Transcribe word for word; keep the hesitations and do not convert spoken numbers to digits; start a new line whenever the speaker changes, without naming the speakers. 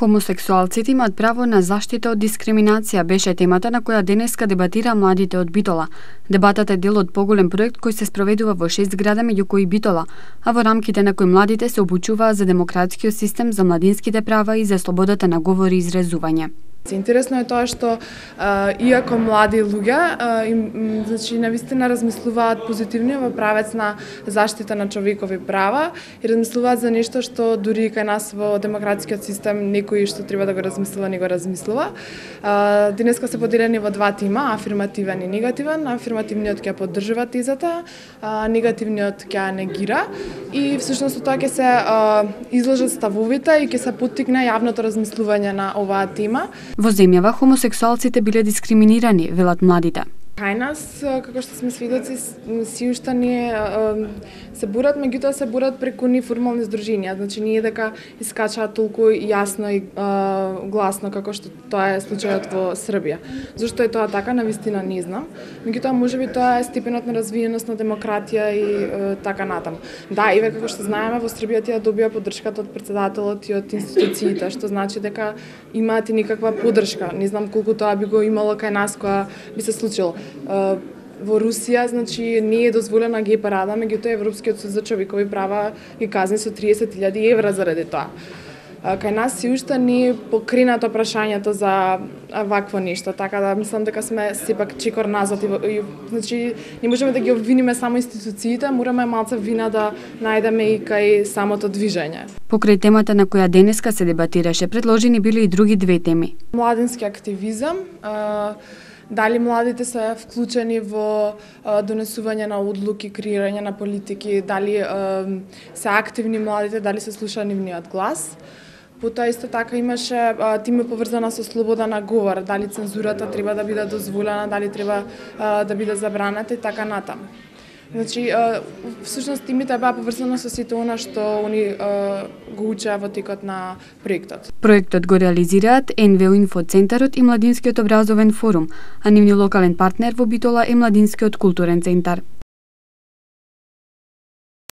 Хомосексуалците имаат право на заштита од дискриминација беше темата на која денеска дебатира младите од Битола. Дебатата е дел од поголем проект кој се спроведува во шест града, меѓу кои Битола, а во рамките на кој младите се обучуваат за демократскиот систем, за младинските права и за слободата на говор и изразување.
Интересно е тоа што а, иако млади луѓе, а, им, значи навистина размислуваат позитивно во правец на заштита на човекови права и размислуваат за нешто што дури кај нас во демократскиот систем некој што треба да го размислува не го размислува. А, денеска се поделени во два тима, афирмативен и негативен. Афирмативниот ќе поддржува тезата, а, негативниот ќе ја негира и всушност тоа ќе се а, изложат ставовите и ќе се поттикне јавното размислување на оваа тема.
Во земјава хомосексуалците биле дискриминирани, велат младите.
Кај нас, како што сме свидоци, си уште ние се борат, меѓутоа се борат преку неформални здруженија. Значи ние дека искачаат толку јасно и а, гласно како што тоа е случајот во Србија. Зошто е тоа така, навистина не знам. Меѓутоа можеби тоа е степенот на развиеност на демократија и а, така натаму. Да, и како што знаеме, во Србија тие добија поддршката од претседателот и од институциите, што значи дека имаат и некаква поддршка. Не знам колку тоа би го имало кај нас кога би се случило. Во Русија, значи, не е дозволена гей парада, меѓутоа Европскиот суд за човекови права ги казни со триесет илјади евра заради тоа. Кај нас си уште не е покренато прашањето за вакво нешто, така да мислам дека сме сепак чекор назад и, и значи не можеме да ги обвиниме само институциите, мораме малце вина да најдеме и кај самото движење.
Покрај темата на која денеска се дебатираше, предложени биле и други две теми.
Младински активизам, дали младите се вклучени во а, донесување на одлуки, креирање на политики, дали а, се активни младите, дали се слуша нивниот глас. Потоа исто така имаше а, тема поврзана со слобода на говор, дали цензурата треба да биде дозволена, дали треба а, да биде забранета и така натаму. Значи, а, всушност тимите беа поврзана со сите она што они а, го учеа во текот на проектот.
Проектот го реализираат Ен Ве О Инфоцентарот и Младинскиот образовен форум, а нивниот локален партнер во Битола е Младинскиот културен центар.